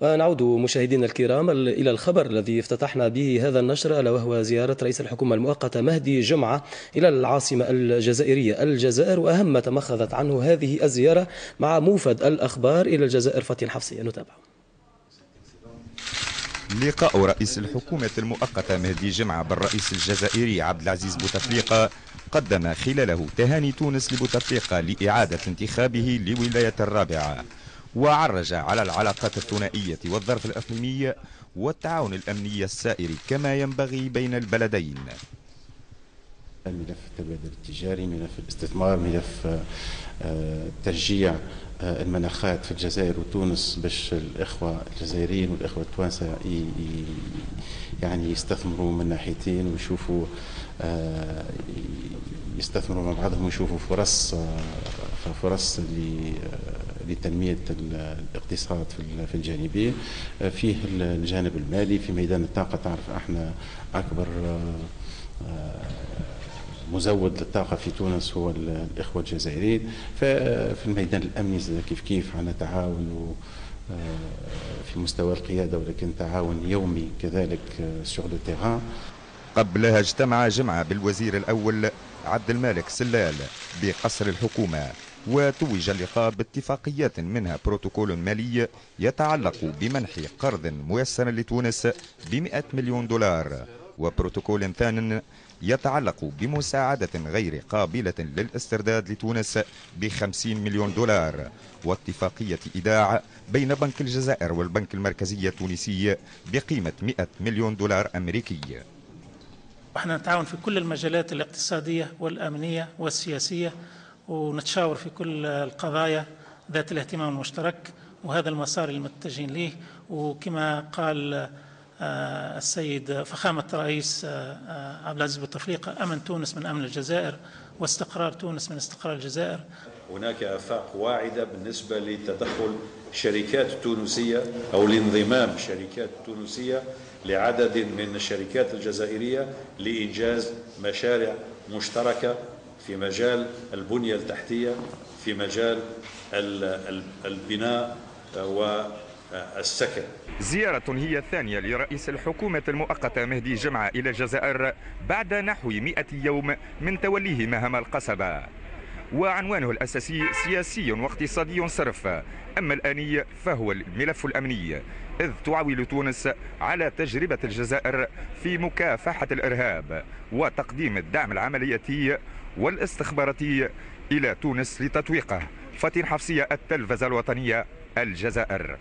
ونعود مشاهدينا الكرام إلى الخبر الذي افتتحنا به هذا النشر، ألا وهو زيارة رئيس الحكومة المؤقتة مهدي جمعة إلى العاصمة الجزائرية الجزائر، وأهم ما تمخضت عنه هذه الزيارة مع موفد الأخبار إلى الجزائر فاتن حفصية. نتابع. لقاء رئيس الحكومة المؤقتة مهدي جمعة بالرئيس الجزائري عبد العزيز بوتفليقة قدم خلاله تهاني تونس لبوتفليقة لإعادة انتخابه لولاية الرابعة، وعرج على العلاقات الثنائية والظرف الإقليمي والتعاون الأمني السائر كما ينبغي بين البلدين. ملف التبادل التجاري، ملف الاستثمار، ملف تشجيع المناخات في الجزائر وتونس باش الإخوة الجزائريين والإخوة التوانسة يعني يستثمروا من ناحيتين ويشوفوا يستثمروا مع بعضهم ويشوفوا فرص لتنمية الاقتصاد في الجانبين. فيه الجانب المالي في ميدان الطاقة، تعرف احنا أكبر مزود للطاقة في تونس هو الإخوة الجزائريين. ففي الميدان الأمني كيف كيف عندنا تعاون في مستوى القيادة، ولكن تعاون يومي كذلك sur le terrain. قبلها اجتمع جمعة بالوزير الأول عبد المالك سلال بقصر الحكومة، وتوج اللقاء باتفاقيات منها بروتوكول مالي يتعلق بمنح قرض ميسر لتونس ب100 مليون دولار، وبروتوكول ثان يتعلق بمساعدة غير قابلة للاسترداد لتونس ب50 مليون دولار، واتفاقية إيداع بين بنك الجزائر والبنك المركزي التونسي بقيمة 100 مليون دولار أمريكي. احنا نتعاون في كل المجالات الاقتصادية والأمنية والسياسية، ونتشاور في كل القضايا ذات الاهتمام المشترك، وهذا المسار اللي متجهين ليه. وكما قال السيد فخامة الرئيس عبد العزيز بوتفليقة، أمن تونس من أمن الجزائر، واستقرار تونس من استقرار الجزائر. هناك آفاق واعدة بالنسبة لتدخل شركات تونسية أو لانضمام شركات تونسية لعدد من الشركات الجزائرية لإنجاز مشاريع مشتركة في مجال البنية التحتية، في مجال البناء والسكن. زيارة هي الثانية لرئيس الحكومة المؤقتة مهدي جمعة إلى الجزائر بعد نحو 100 يوم من توليه مهام القصبة، وعنوانه الأساسي سياسي واقتصادي صرف. أما الآني فهو الملف الأمني، إذ تعول تونس على تجربة الجزائر في مكافحة الإرهاب وتقديم الدعم العملياتي والاستخباراتي إلى تونس لتطويقه. فاتن حفصية، التلفزة الوطنية، الجزائر.